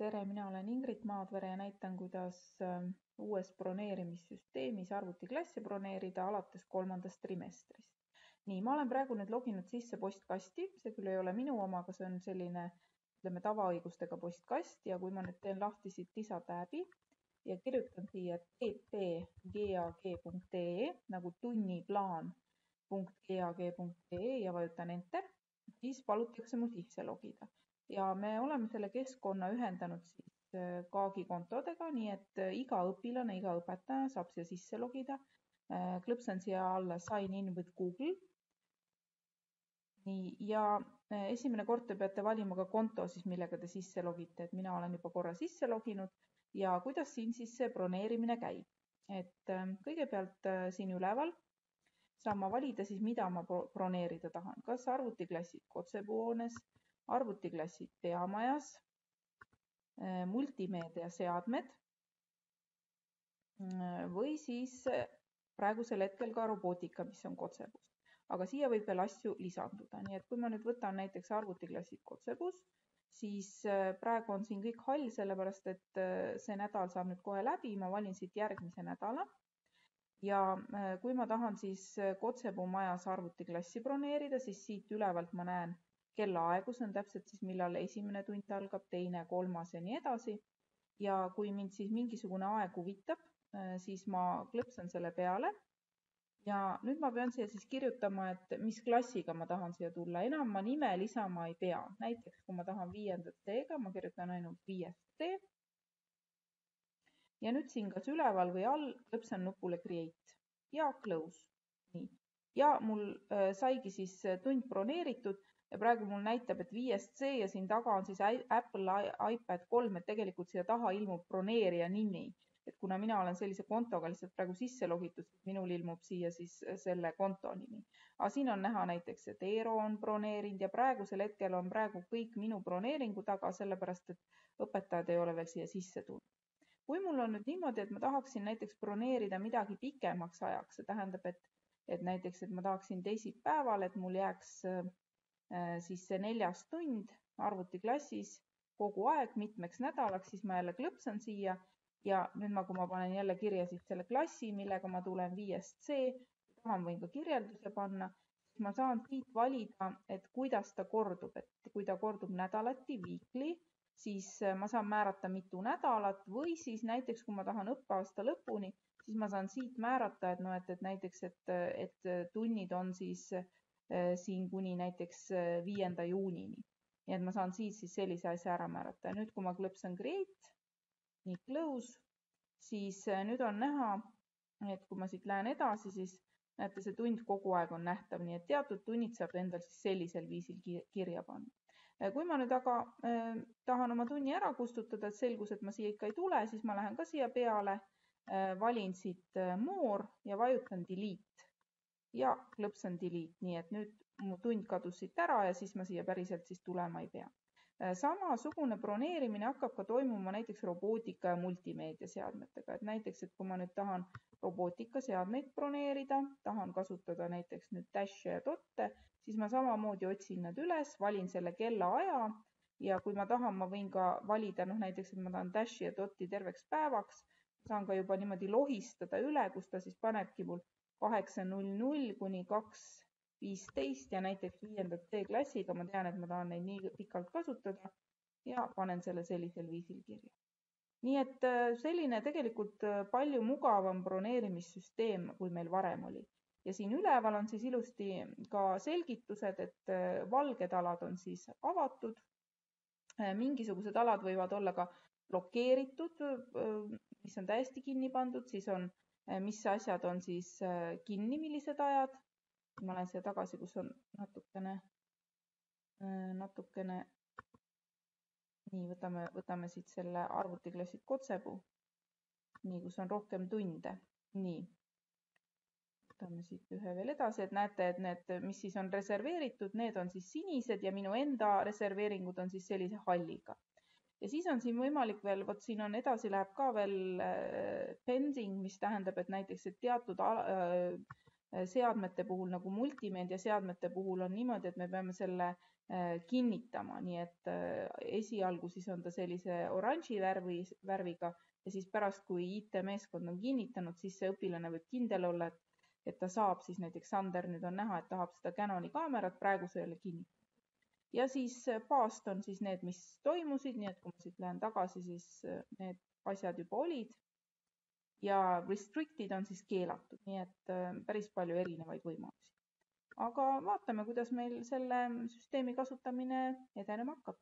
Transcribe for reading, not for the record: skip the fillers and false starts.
Tere, mina olen Ingrid Maadvere ja näitan, kuidas uues broneerimissüsteemis arvutiklassi broneerida alates 3. trimestrist. Nii, ma olen praegu nüüd loginud sisse postkasti, see küll ei ole minu oma, aga see on selline tavaõigustega postkast ja kui ma nüüd teen lahti siit lisatääbi ja kirjutan siia pp.gag.ee nagu tunniplaan.gag.ee ja vajutan enter, siis palutakse mul sisse logida. Ja me oleme selle keskkonna ühendanud siis Gaagi kontodega, nii et iga õpilane, iga õpetaja saab siia sisse logida. Klõpsan siia alla Sign in with Google. Nii, ja esimene kord te peate valima ka konto, siis millega te sisse logite, et mina olen juba korra sisse loginud ja kuidas siin siis see broneerimine käib. Et kõigepealt siin üleval saan ma valida siis, mida ma broneerida tahan, kas arvutiklassid Kotsepuu-hoones, arvutiklassid peamajas, multimeediaseadmed või siis praegusel hetkel ka robootika, mis on Kotsepuus. Aga siia võib veel asju lisanduda. Nii et kui ma nüüd võtan näiteks arvutiklassid Kotsepuus, siis praegu on siin kõik hall, sellepärast et see nädal saab nüüd kohe läbi. Ma valin siit järgmise nädala. Ja kui ma tahan siis Kotsepuu majas arvutiklassi broneerida, siis siit ülevalt ma näen kellaaegu, see on täpselt siis millal esimene tund algab, teine, kolmas ja nii edasi. Ja kui mind siis mingisugune aeg huvitab, siis ma klõpsan selle peale. Ja nüüd ma pean siia siis kirjutama, et mis klassiga ma tahan siia tulla. Enam ma nime lisama ei pea. Näiteks kui ma tahan 5. C-ga, ma kirjutan ainult 5. C. Ja nüüd siin kas üleval või all klõpsan nupule Create ja Close. Nii. Ja mul saigi siis tund broneeritud. Ja praegu mul näitab, et 5. C ja siin taga on siis Apple iPad 3, et tegelikult siia taha ilmub broneerija nimi. Et kuna mina olen sellise kontoga lihtsalt praegu sisse logitud, siis minul ilmub siia siis selle konto nimi. Aga siin on näha näiteks, et Eero on broneerinud ja praegusel hetkel on praegu kõik minu broneeringu taga, sellepärast et õpetajad ei ole veel siia sisse tulnud. Kui mul on nüüd niimoodi, et ma tahaksin näiteks broneerida midagi pikemaks ajaks, see tähendab, et näiteks, et ma tahaksin teisipäeval, et mul jääks siis see 4. tund arvutiklassis kogu aeg mitmeks nädalaks, siis ma jälle klõpsan siia ja nüüd kui ma panen jälle kirja siis selle klassi, millega ma tulen 5. C, tahan võin ka kirjelduse panna, siis ma saan siit valida, et kuidas ta kordub, et kui ta kordub nädalati, weekly, siis ma saan määrata mitu nädalat või siis näiteks, kui ma tahan õppeaasta lõpuni, siis ma saan siit määrata, et näiteks, et tunnid on siis siin kuni näiteks 5. juunini. Nii et ma saan siit siis sellise asja ära määrata. Ja nüüd, kui ma klõpsan Create, nii Close, siis nüüd on näha, et kui ma siit lähen edasi, siis näete, see tund kogu aeg on nähtav, nii et teatud tunnid saab endal siis sellisel viisil kirja panna. Kui ma nüüd aga tahan oma tunni ära kustutada, et selgus, et ma siia ikka ei tule, siis ma lähen ka siia peale, valin siit More ja vajutan Delete. Ja klõpsan Delete, nii et nüüd mu tund kadus siit ära ja siis ma siia päriselt siis tulema ei pea. Samasugune broneerimine hakkab ka toimuma näiteks robootika ja multimeediaseadmetega. Et näiteks, et kui ma nüüd tahan robootikaseadmeid broneerida, tahan kasutada näiteks nüüd Dash'e ja Dot'e, siis ma samamoodi otsin nad üles, valin selle kellaaja ja kui ma tahan, ma võin ka valida näiteks, et ma tahan Dash'i ja Dot'i terveks päevaks, saan ka juba niimoodi lohistada üle, kus ta siis panebki mul 8.00 kuni 2.15 ja näiteks 5. C klassiga ma tean, et ma tahan neid nii pikalt kasutada ja panen selle sellisel viisil kirja. Nii et selline tegelikult palju mugavam broneerimissüsteem, kui meil varem oli. Ja siin üleval on siis ilusti ka selgitused, et valged alad on siis avatud. Mingisugused alad võivad olla ka blokeeritud, mis on täiesti kinni pandud, siis on mis asjad on siis kinni, millised ajad. Ma lähen siia tagasi, kus on natukene. Nii, võtame siit selle arvutiklassid Kotsepuu. Nii, kus on rohkem tunde. Nii, võtame siit ühe veel edasi, et näete, et need, mis siis on reserveeritud, need on siis sinised ja minu enda reserveeringud on siis sellise halliga. Ja siis on siin võimalik veel, vot siin on edasi läheb ka veel pending, mis tähendab, et näiteks et teatud seadmete puhul, nagu multimeediaseadmete puhul on niimoodi, et me peame selle kinnitama, nii et esialgu siis on ta sellise oranži värviga ja siis pärast, kui IT-meeskond on kinnitanud, siis see õpilane võib kindel olla, et ta saab siis näiteks Sander nüüd on näha, et tahab seda Canoni kaamerat, praegu see ei ole kinnitatud. Ja siis past on siis need, mis toimusid, nii et kui ma siit lähen tagasi, siis need asjad juba olid. Ja restricted on siis keelatud, nii et päris palju erinevaid võimalusi. Aga vaatame, kuidas meil selle süsteemi kasutamine edenema hakkab.